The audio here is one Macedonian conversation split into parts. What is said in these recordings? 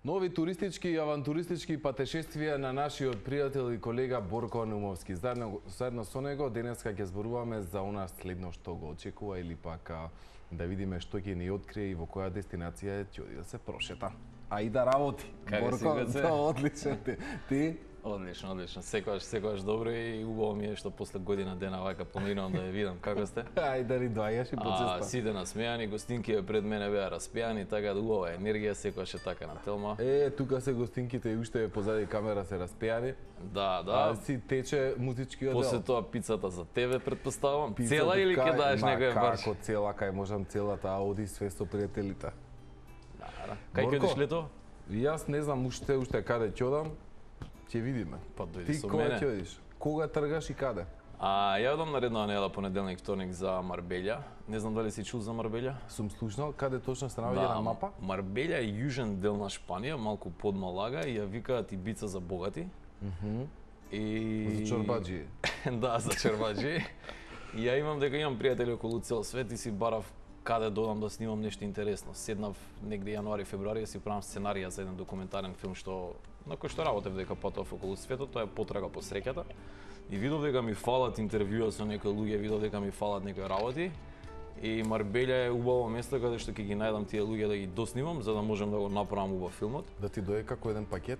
Нови туристички и авантуристички патешествија на нашиот пријател и колега Борко Наумовски. Заедно со него денеска ќе зборуваме за она следно што го очекува или пак да видиме што ќе ни открие и во која дестинација ќе оди да се прошета. А и да работи. Борко, одлично. Ти? Одлично. Секогаш добро и убаво ми е што после година дена вака поминувам да ја видам како сте. Ај да ни доаѓаш и почеста. Сите насмејани, гостинки пред мене беа распијани, така да убава енергија секогаш е така на телма. Тука се гостинките и уште позади камера се распијани. Да. Си тече музичкиот дел. После тоа пицата за тебе претпоставам. Цела или ќе даеш некој барш? Како цела, кај можам целата, оди све со пријателите. Да. Кај ќе одиш лето? Јас не знам уште каде ќе одам. Ќе видиме. Па дојди со Ти мене. кога ќе одиш? Кога тргаш и каде? Ја одам наредна недела понеделник, вторник за Марбелја. Не знам дали си чул за Марбелја? Сум слушнал, каде точно се наоѓа на мапа? Марбелја е јужен дел на Шпанија, малку под Малага и ја викаат Ибица за богати. За чорбаџи. Да, за чорбаџи. И ја имам дека имам пријатели околу цел свет и си барав каде додам да снимам нешто интересно. Седнав негде јануари, февруари си правам сценарија за еден документарен филм на кој што работев дека патував околу светот, тоа е Потрага по среќата. И видов дека ми фалат интервјуа со некои луѓе, видов дека ми фалат некои работи. И Марбелја е убаво место каде што ќе ги најдам тие луѓе да ги доснимам за да можам да го направам убав филмот. Да ти дое како еден пакет?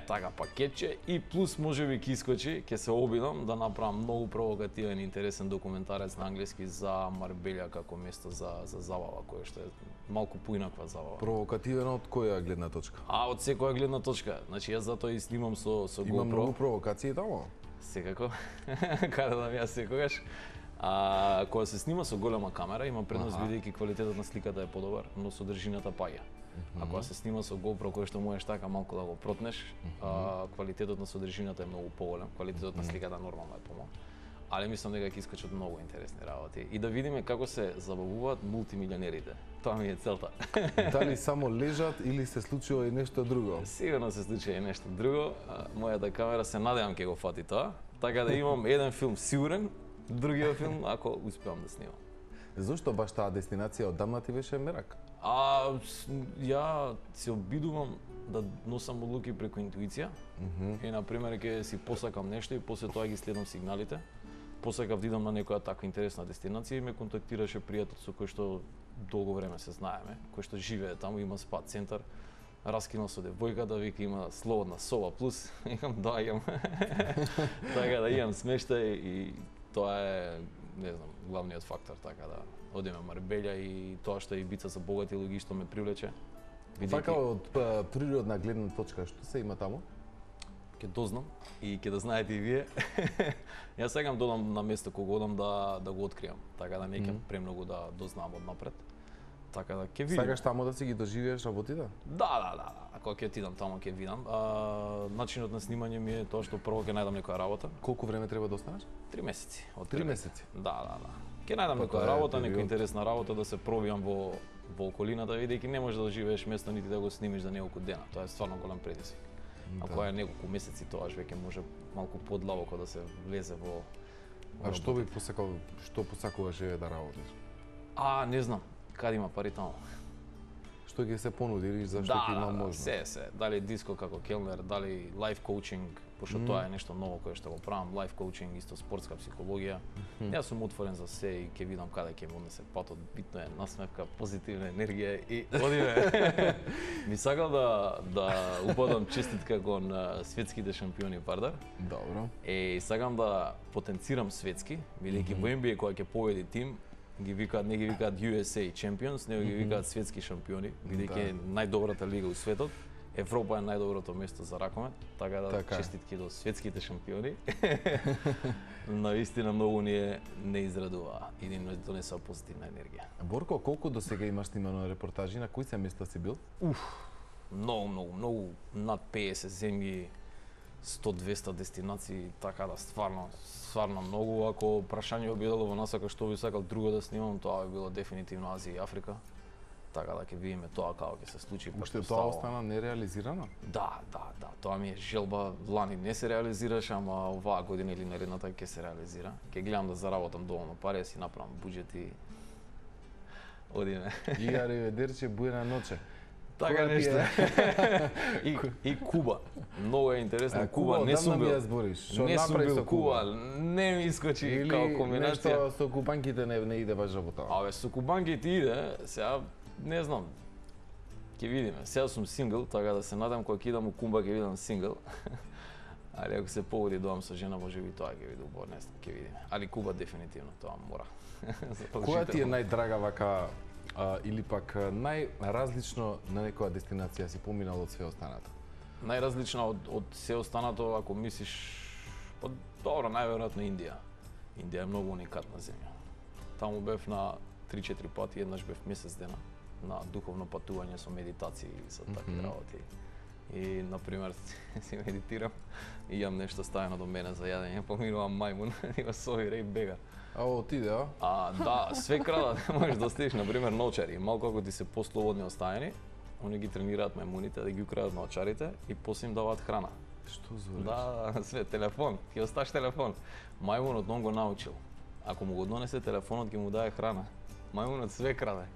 Така пакетче и плюс можеби ќе искочи, ќе се обидам да направам многу провокативен и интересен документарец на англиски за Марбелја како место за забава, кое што е малку поинаква забава. Провокативен од која гледна точка? Од секоја гледна точка. Значи јас затоа и снимам со GoPro. Има многу провокации таму? Секако. Каде да ја секогаш. Кога се снима со голема камера, има предност бидејќи квалитетот на сликата е подобар, но содржината паѓа. А кога се снима со GoPro, кој што можеш така малку да го протнеш, квалитетот на содржината е многу поголем, квалитетот на сликата нормално е помал. Але мислам дека ќе искачат многу интересни работи и да видиме како се забавуваат мултимилионерите. Тоа ми е целта. Дали само лежат или се случува и нешто друго? Сигурно се случува и нешто друго. Мојата камера се надевам ќе го фати тоа, така да имам еден филм сигурен, другиот филм ако успеам да снимам. Зошто баш таа дестинација одамна ти беше мерак? Ја се обидувам да носам одлуки преку интуиција. И на пример ќе си посакам нешто и после тоа ги следам сигналите. Посакав да идам на некоја таква интересна дестинација и ме контактираше пријател со кој што долго време се знаеме, кој што живее таму, има спа центар. Раскинал со девојката, вика има слободна соба плюс, имам доаѓам. Така да имам смештај и тоа е, не знам, главниот фактор, така да одиме Марбелја и тоа што е Ибица за богати луѓе што ме привлече. Така од природна гледна точка, што се има таму? Ќе дознам и ќе да знаете и вие. Јас сакам да одам на место кога одам да го откриам, така да не ќе премногу да дознам однапред. Така да ќе видам. Сакаш таму да си ги доживееш работите? Да. Ако ќе отидам таму ќе видам. Начинот на снимање ми е тоа што прво ќе најдам некоја работа. Колку време треба да останеш? 3 месеци. Од 3 месеци. Да. Ќе најдам некоја работа, некоја интересна работа да се пробијам во околината, видејќи не можеш да живееш место нити да го снимиш за неколку дена. Тоа е стварно голем предизвик. Ако е неколку месеци, тоа веќе може малку подлабоко да се влезе во. А што би посакал, што посакуваш да работиш? Не знам. Каде има пари таму? Што ќе се понуди или зашто ќе има можност? Се. Дали диско како келнер, дали лайф коучинг, пошто тоа е нешто ново кое што го правам, лайф коучинг, исто спортска психологија. Јас сум отворен за се и ќе видам каде ќе му однесе патот. Битно е насмевка, позитивна енергија и одиме. Ми сакал да упадам честитка кон светските шампиони пардар. Добро. Сакам да потенцирам светски, бидејќи во NBA кога ќе победи тим, не ги викаат USA Champions, него ги викаат светски шампиони, бидејќи е најдобрата лига у светот. Европа е најдоброто место за ракомет, така да честитки до светските шампиони. Навистина многу не израдува и ни донесува позитивна енергија. Борко, колку до сега имаш снимано репортажи, на кои се места си бил? Многу, над 50 земји, 100-200 дестинации, така да стварно многу. Ако прашање било во насака што би сакал друго да снимам, тоа би било дефинитивно Азија и Африка. Така да ќе видиме тоа како ќе се случи. Уште тоа остана нереализирано? Да. Тоа ми е желба. Лани не се реализираше, ама оваа година или наредната ќе се реализира. Ќе гледам да заработам доволно пари, да си направам буџет и одиме. И ариведерче, буена ноќе. Така нешто. И Куба. Многу е интересно. Куба не сум бил. Не сум бил Куба. Не ми искочи као комбинација. Нешто со кубанките не иде баш работа. Абе, со кубанките иде, сега не знам. Ќе видиме. Сега сум сингл, така да се надам кога ќе идам у Куба ќе видам сингл. Али ако се погоди доам со жена, може би тоа ќе биде убаво, не знам, ќе видиме. Али Куба дефинитивно тоа мора. Која ти е најдрага вака или пак најразлично на некоја дестинација си поминал од све останато? Најразлична од се останато, ако мислиш, па добро, најверојатно Индија. Индија е многу уникатна земја. Таму бев на 3-4 пати, еднаш бев месец дена на духовно патување со медитации и со такви работи. И, например, си медитирам и јам нешто ставено до мене за јадење, поминувам мајмун и го совира и бега. А отиде, а? Да, све крадат, можеш да стиш, например, научари. Малку ако ти се послободни оставени, они ги тренираат мајмуните да ги украдат научарите и после им даваат храна. Што збориш? Да, све, телефон, ќе осташ телефон. Мајмунот non го научил. Ако му го донесе телефонот, ќе му даде храна. Мајмунот све краде.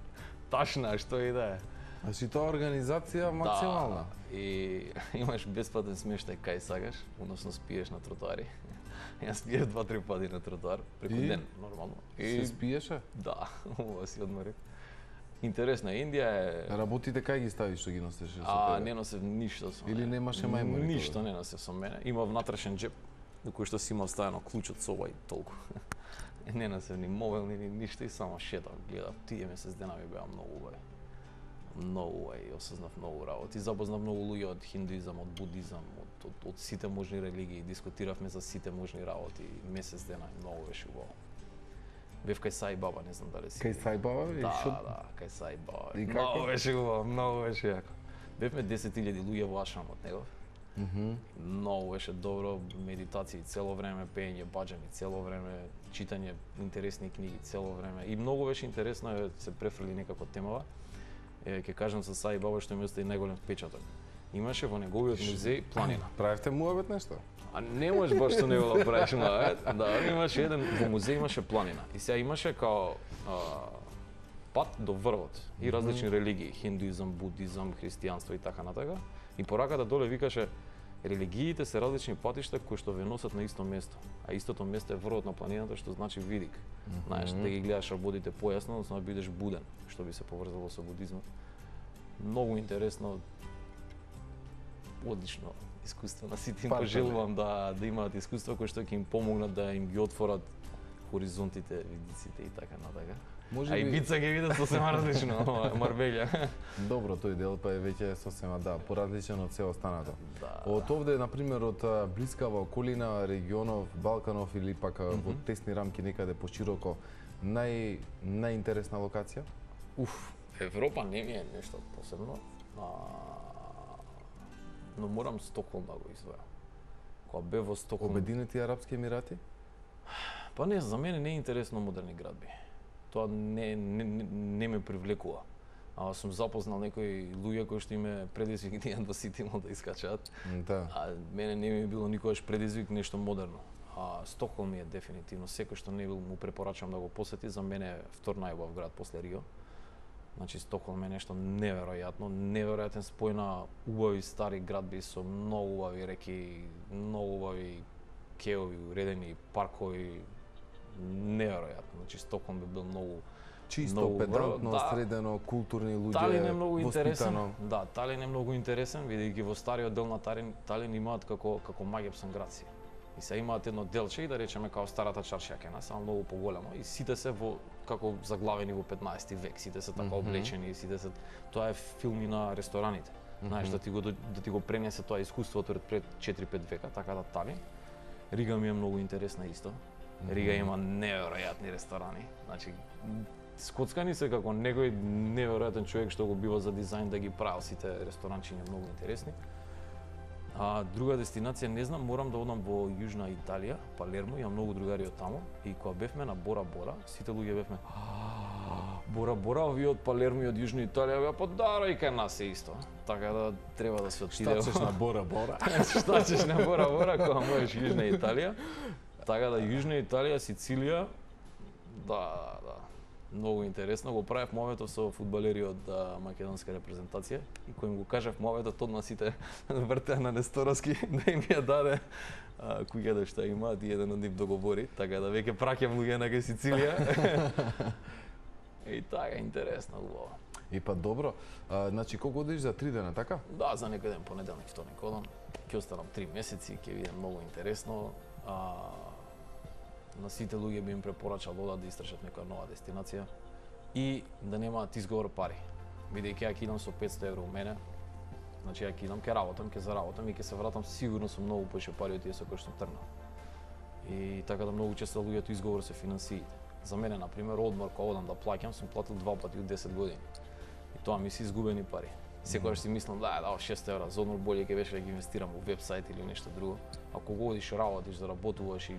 Ташна, што и да е. Значи тоа организација максимална. Да, и имаш бесплатен смештај кај сакаш, односно спиеш на тротоари. Јас спиев 2-3 пати на тротоар преку ден, нормално. И се спиеше? Да, ова си одморив. Интересно е, Индија е... Работите кај ги ставиш што ги носеше со тебе? Не носев ништо со мене. Или немаше мајмуни? Ништо не носев со мене. Има внатрешен джеп, до кој што си имав ставено клуч од соба и толку. Не носев ни мобилни, ни ништо и само шетав, гледав. Тие месец дена ми беа многу убави. Многу убави, осознав многу работи. Запознав многу луѓе од хиндуизам, од будизам, од сите можни религии. Дискутиравме за сите можни работи. Месец дена многу беше убаво. Бев кај Саи Баба, не знам дали си. Кај Саи Баба? Да, кај Саи Баба. И како? Многу беше убаво, многу беше јако. Бевме 10.000 луѓе во ашрамот негов. Многу беше добро, медитации цело време, пеење баџани цело време, читање интересни книги цело време. И многу беше интересно, се префрли некако темава. Ќе кажам за Саи Баба што ми остави најголем впечаток. Имаше во неговиот музеј планина. Правевте муабет нешто? А не можеш баш што не го правиш муабет. Да, имаше еден во музеј имаше планина. И сега имаше као пат до врвот и различни религии, хиндуизам, будизам, христијанство и така натака. И пораката доле викаше религиите се различни патишта кои што ве носат на исто место, а истото место е врвот на планината што значи видик. Знаеш, да ги гледаш работите појасно, односно да бидеш буден, што би се поврзало со будизмот. Многу интересно, одлично искуство на сите им пожелувам да имаат искуство кои што ќе им помогнат да им ги отворат хоризонтите, видиците и така натака. А и Бица ќе видат сосема различно, Марбелја. Добро, тој дел па е веќе сосема, да, поразличен од се останато. Да. Од овде, например, од блискава околина, регионов, Балканов или пак во тесни рамки некаде пошироко, најинтересна локација? Европа не ми е нешто посебно, но морам Стокхолм да го издвојам. Кога бев во Стокхолм... Обединети Арапски Емирати? Па не, за мене не е интересно модерни градби. Тоа не ме привлекува. Сум запознал некои луѓе кои што име предизвик да ситимо да искачаат. Да. А мене не ми било никогаш предизвик нешто модерно. Стокхолм е дефинитивно, секој што не бил му препорачам да го посети, за мене е втор најубав град после Рио. Значи Стокхолм е нешто неверојатно, неверојатен спој на убави стари градби со многу убави реки, многу убави кеови, уредени паркови, неверојатно. Значи Стокхолм би бил многу чисто, педантно, средено, културни луѓе, Талин е многу интересен. воспитано. Да, Талин е многу интересен, бидејќи во стариот дел на Талин имаат како Магепсон градси. И се имаат едно делче и да речеме као старата чаршија кај нас, само многу поголемо и сите се во како заглавени во 15 век, сите се така облечени, сите се тоа е филми на рестораните. Знаеш да ти го пренесе тоа искуството пред 4-5 века, така да Талин. Рига ми е многу интересна исто. Рига има неверојатни ресторани. Значи скоцкани се како некој неверојатен човек што го бива за дизајн да ги правил сите ресторанчиња многу интересни. Друга дестинација не знам, морам да одам во Јужна Италија, Палермо, имам многу другари од таму и кога бевме на Бора Бора, сите луѓе бевме Бора Бора, овие од Палермо и од Јужна Италија беа па да, и кај нас е исто. Така да треба да се отиде. Штачеш на Бора Бора. Штачеш на Бора Бора кога можеш Јужна Италија. Така да Јужна Италија, Сицилија, да. Многу интересно, го правев моветот со фудбалери од македонска репрезентација и кој им го кажав моветот, одма сите вртеа на Нестороски да им ја даде куќата што имаат и еден од нив договори, така да веќе праќам луѓе на Сицилија. И така, интересно, убаво. И па добро, значи колку одиш за 3 дена, така? Да, за некој ден, понеделник, вторник одам. Ќе останам 3 месеци, ќе видам многу интересно. На сите луѓе би им препорачал да одат да истражат некоја нова дестинација и да немаат изговор пари. Бидејќи ја ќе идам со 500 евро у мене, значи ја ќе идам, ќе работам, ќе заработам и ќе се вратам сигурно со многу поише пари од тие со кои што тргнав. И така да многу често луѓето изговор се финансиите. За мене, например, одмор кога одам да плаќам, сум платил 2 пати од 10 години. И тоа ми се изгубени пари. Секогаш си мислам, да, 6 евра за одмор боле ќе беше да ги инвестирам во вебсайт или нешто друго. А кога одиш работиш, заработуваш и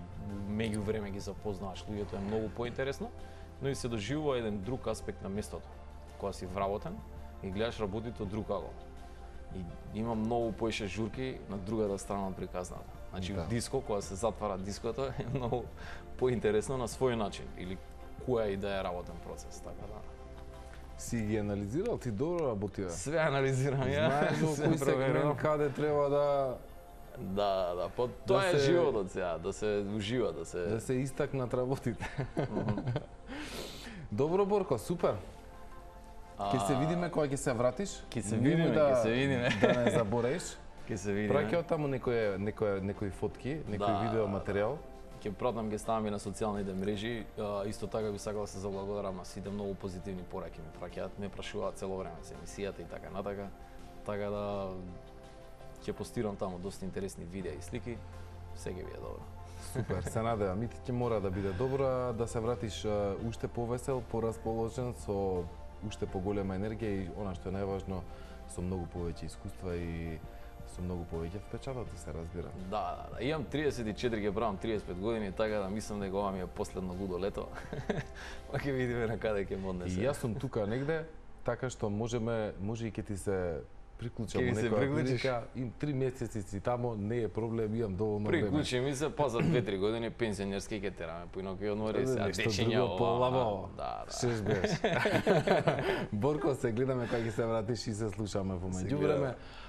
меѓу време ги запознаваш луѓето, е многу поинтересно, но и се доживува еден друг аспект на местото. Кога си вработен и гледаш работите од друг ъгол. И има многу поише журки на другата страна од приказната. Значи да. Диско, кога се затвара диското, е многу поинтересно на свој начин или која и да е работен процес, така да. Си ги анализирал, ти добро работи, бе? Све анализирам ја. Знаеш во кој сегмент каде треба да Да, тоа е животот сега, да се ужива, да се истакнат работите. Добро, Борко, супер. Ќе се видиме кога ќе се вратиш. Ќе се видиме, ќе се видиме. Да не забореиш. Ќе се видиме. Праќај таму некои фотки, некој видео материјал. Ќе пратам, ќе ставам и на социјалните мрежи. Исто така би сакал да се заблагодарам на сите многу позитивни пораки ми праќаат, ме прашуваат цело време за емисијата и така натака. Така да ќе постирам таму доста интересни видеа и слики. Се ќе биде добро. Супер, се надевам. И ти ќе мора да биде добро, да се вратиш уште повесел, порасположен, со уште поголема енергија и она што е најважно, со многу повеќе искуства и со многу повеќе впечатоци, се разбира. Да. Имам 34, ќе правам 35 години, така да мислам дека ова ми е последно лудо лето. Па ќе видиме на каде ќе ме однесе. И јас сум тука негде, така што може и ќе ти се приклучам во некоја прилика, им 3 месеци си тамо, не е проблем, имам доволно време. Приклучи ми се, па за 2-3 години пензионерски ќе тераме, поинаку ќе одмори се, дечиња ова. Да. Шеш беш. Борко, се гледаме кога ќе се вратиш и се слушаме во меѓувреме.